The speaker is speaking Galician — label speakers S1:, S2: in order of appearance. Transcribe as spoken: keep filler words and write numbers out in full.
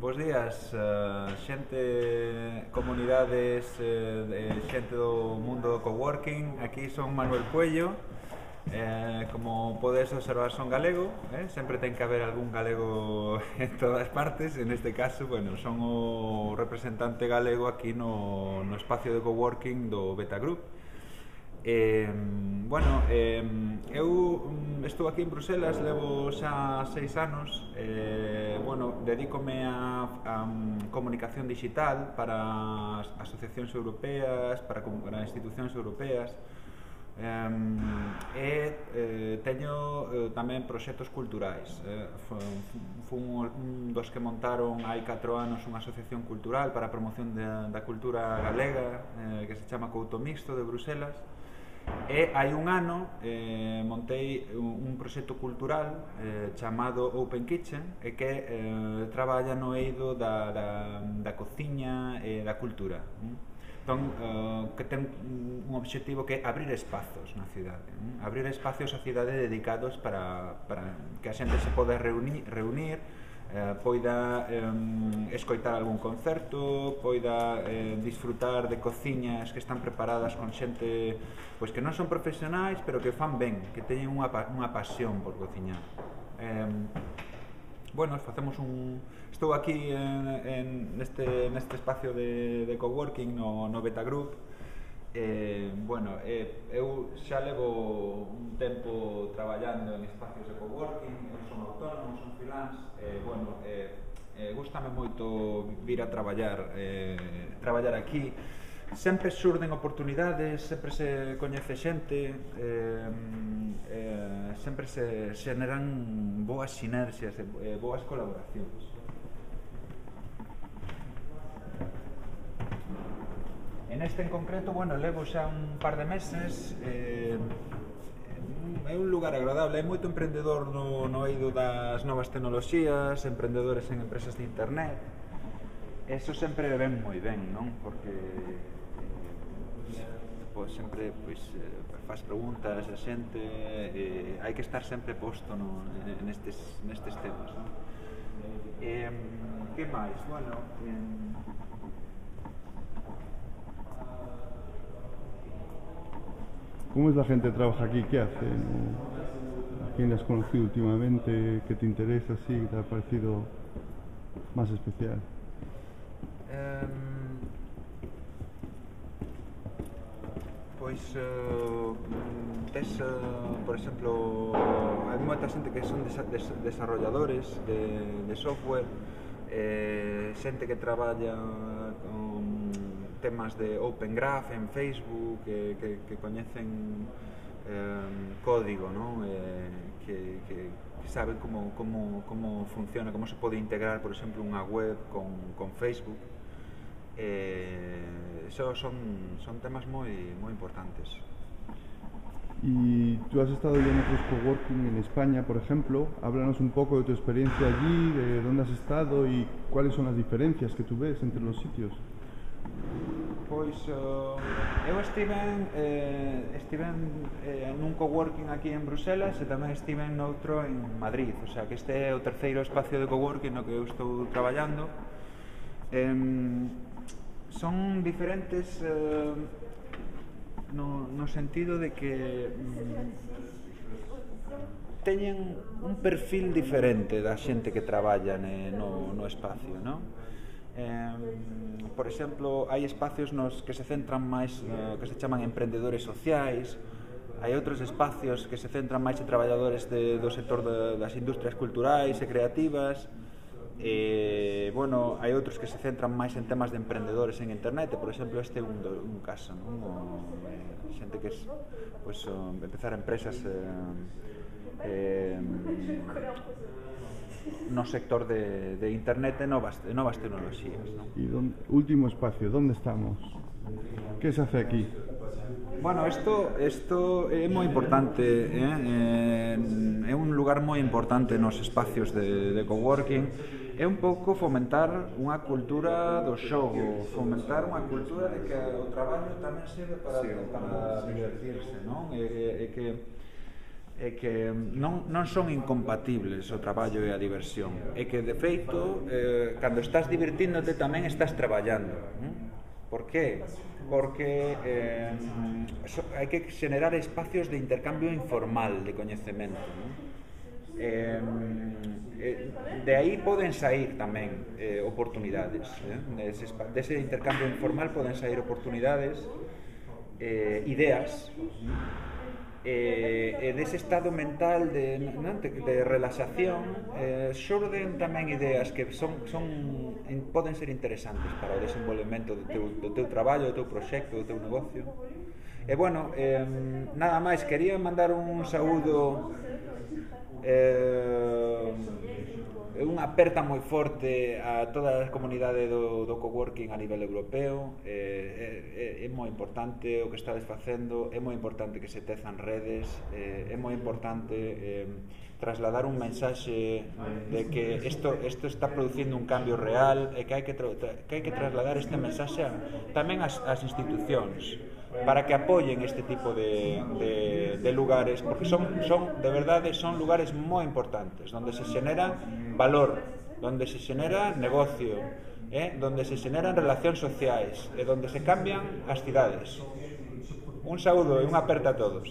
S1: Bos días, uh, xente, comunidades, eh, xente do mundo do coworking. Aquí son Manuel Puello. Eh, como podes observar, son galego, eh? Sempre ten que haber algún galego en todas partes. En este caso, bueno, son o representante galego aquí no, no espacio de coworking do Beta Group. Eh, bueno, eh, eu estou aquí en Bruselas, levo xa seis anos. eh, bueno, dedícome a, a comunicación digital para as asociacións europeas, para, para institucións europeas. Um, e eh, teño eh, tamén proxectos culturais. eh, Fun un dos que montaron hai catro anos unha asociación cultural para a promoción de, da cultura galega, eh, que se chama Couto Mixto, de Bruselas. E hai un ano eh, montei un, un proxecto cultural eh, chamado Open Kitchen, e que eh, traballa no eido da, da, da cociña e da cultura. Entón, uh, que ten un obxectivo que é abrir espazos na cidade, ¿eh? Abrir espacios á cidade dedicados para, para que a xente se poda reunir, reunir eh, poida eh, escoitar algún concerto, poida eh, disfrutar de cociñas que están preparadas con xente pois que non son profesionais, pero que fan ben, que teñen unha, unha pasión por cociñar. Eh, bueno, facemos un... Estou aquí en, en neste, neste espacio de, de coworking no, no Beta Group. Eh, bueno, eh, eu xa levo un tempo traballando en espacios de coworking. Eu son autónomo, son freelance. Eh, bueno, eh, eh, gústame moito vir a traballar, eh, traballar aquí. Sempre surden oportunidades, sempre se coñece xente, eh, eh, sempre se xeneran boas sinerxias, eh, boas colaboracións. En este en concreto, bueno, levo xa un par de meses. eh, É un lugar agradable, hai moito emprendedor no, no eido das novas tecnoloxías, emprendedores en empresas de internet. Eso sempre ven moi ben, non? Porque pois sempre pois, faz preguntas a xente, e hai que estar sempre posto no, nestes, nestes temas, non? Eh, que máis? Bueno, eh,
S2: ¿Cómo es la gente que trabaja aquí? ¿Qué hacen? ¿A quién has conocido últimamente? ¿Qué te interesa? ¿Sí? ¿Qué te ha parecido más especial?
S1: Um, pois uh, tes, uh, por exemplo, hai moita xente que son desa, des, desarrolladores de, de software, eh, xente que traballa con temas de Open Graph en Facebook, que, que, que coñecen eh, código, ¿no? eh, que, que, que saben como, como, como funciona, como se pode integrar, por exemplo, unha web con, con Facebook. Eh, eso son, son temas moi, moi importantes.
S2: Y tú has estado ya en otros coworking en España, por ejemplo. Háblanos un poco de tu experiencia allí, de dónde has estado y cuáles son las diferencias que tú ves entre los sitios.
S1: Pois uh, eu estiven eh, estiven eh, nun coworking aquí en Bruselas, e tamén estiven noutro en Madrid. O sea, que este é o terceiro espacio de coworking no que eu estou traballando. eh, Son diferentes eh, no, no sentido de que mm, teñen un perfil diferente da xente que traballa ne, no, no espacio, non? Eh, por exemplo, hai espacios nos que se centran máis, eh, que se chaman emprendedores sociais. Hai outros espacios que se centran máis en traballadores de, do sector de, das industrias culturais e creativas. E, bueno, hai outros que se centran máis en temas de emprendedores en internet. Por exemplo, este é un, do, un caso, non? O, eh, xente que es, pues, o, empezar empresas eh, eh, no sector de, de internet e novas, de novas tecnoloxías, ¿no?
S2: Y don, último espacio, ¿dónde estamos? ¿Qué se hace aquí?
S1: Bueno, isto, isto é moi importante, eh? É un lugar moi importante nos espacios de, de coworking. É un pouco fomentar unha cultura do xogo, fomentar unha cultura de que o traballo tamén serve para, para divertirse, non? E, e que é que non, non son incompatibles o traballo e a diversión, é que de feito eh, cando estás divertíndote tamén estás traballando. Por qué? Porque eh, so, hai que generar espacios de intercambio informal de coñecemento, non? Eh, eh, de aí poden sair tamén eh, oportunidades, eh? Dese, dese intercambio informal poden sair oportunidades, eh, ideas, e eh, dese estado mental de, non, de, de relaxación eh, xorden tamén ideas que son, son, poden ser interesantes para o desenvolvemento do teu, do teu traballo, do teu proxecto, do teu negocio. E bueno, eh, nada máis, quería mandar un saúdo, eh, unha aperta moi forte a toda a comunidade do, do coworking a nivel europeo. eh, é, é moi importante o que estades facendo, é moi importante que se tezan redes, eh, é moi importante eh, trasladar un mensaxe de que isto, isto está producindo un cambio real e que hai que, que, hai que trasladar este mensaxe a, tamén ás, ás institucións para que apoyen este tipo de, de, de lugares, porque son, son, de verdade, son lugares moi importantes, onde se xenera valor, onde se xenera negocio, eh, onde se xeneran relacións sociais, e onde se cambian as cidades. Un saúdo e unha aperta a todos.